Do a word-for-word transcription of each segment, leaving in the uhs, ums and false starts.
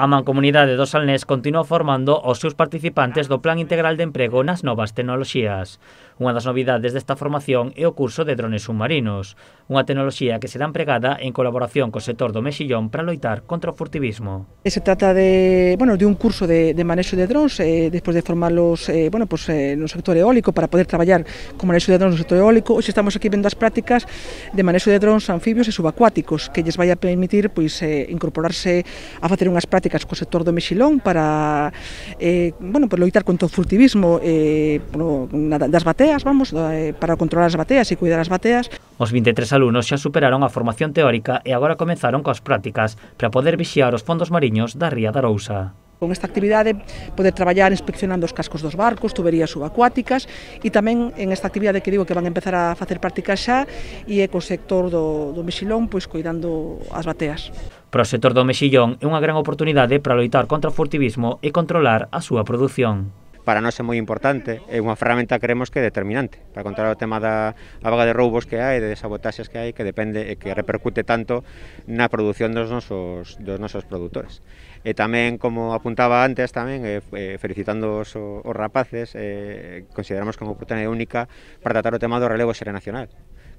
A Mancomunidade do Salnés continúa formando os seus participantes do Plan Integral de Emprego nas novas tecnoloxías. Unha das novidades desta formación é o curso de drones submarinos, unha tecnoloxía que será empregada en colaboración co sector do mexillón para loitar contra o furtivismo. Se trata de, bueno, de un curso de, de manexo de drones, eh, despois de formarlos eh, bueno, pues, eh, no sector eólico para poder traballar con manexo de drones no sector eólico. Hoxe estamos aquí vendo as prácticas de manexo de drones anfibios e subacuáticos que lles vai a permitir pois, eh, incorporarse a facer unhas prácticas co sector do mexilón para eh, bueno, pues, loitar contra o furtivismo eh, bueno, das bateas, vamos, eh, para controlar as bateas e cuidar as bateas. Os vinte e tres alumnos xa superaron a formación teórica e agora comezaron coas prácticas para poder vixiar os fondos mariños da ría da Arousa. Con esta actividade poder traballar inspeccionando os cascos dos barcos, tuberías subacuáticas e tamén en esta actividade que digo que van a empezar a facer prácticas xa e é co sector do, do mexilón pois cuidando as bateas. Para o sector do mexillón é unha gran oportunidade para loitar contra o furtivismo e controlar a súa produción. Para nós é moi importante, é unha ferramenta que creemos que é determinante para controlar o tema da a vaga de roubos que hai, de sabotaxes que hai, que depende e que repercute tanto na produción dos nosos, dos nosos produtores. E tamén, como apuntaba antes, tamén eh, felicitando os, os rapaces, eh, consideramos que é unha oportunidade única para tratar o tema do relevo xeracional,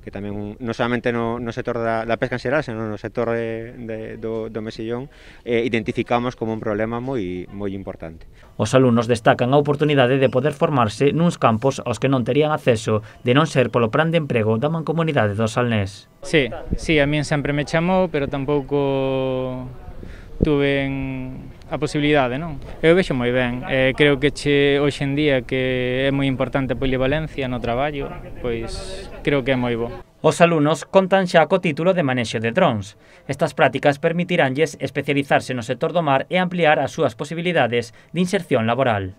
que tamén non solamente no, no sector da, da pesca en xeral, senón no sector de, de, do, do mexillón, eh, identificamos como un problema moi, moi importante. Os alumnos destacan a oportunidade de poder formarse nuns campos aos que non terían acceso de non ser polo plan de emprego da Mancomunidade do Salnés. Sí, sí, a min sempre me chamou, pero tampouco tuve a posibilidade, non? Eu vexo moi ben, eh, creo que che hoxe en día que é moi importante a polivalencia no traballo, pois creo que é moi bo. Os alumnos contan xa co título de manexo de drones. Estas prácticas permitiránlles especializarse no sector do mar e ampliar as súas posibilidades de inserción laboral.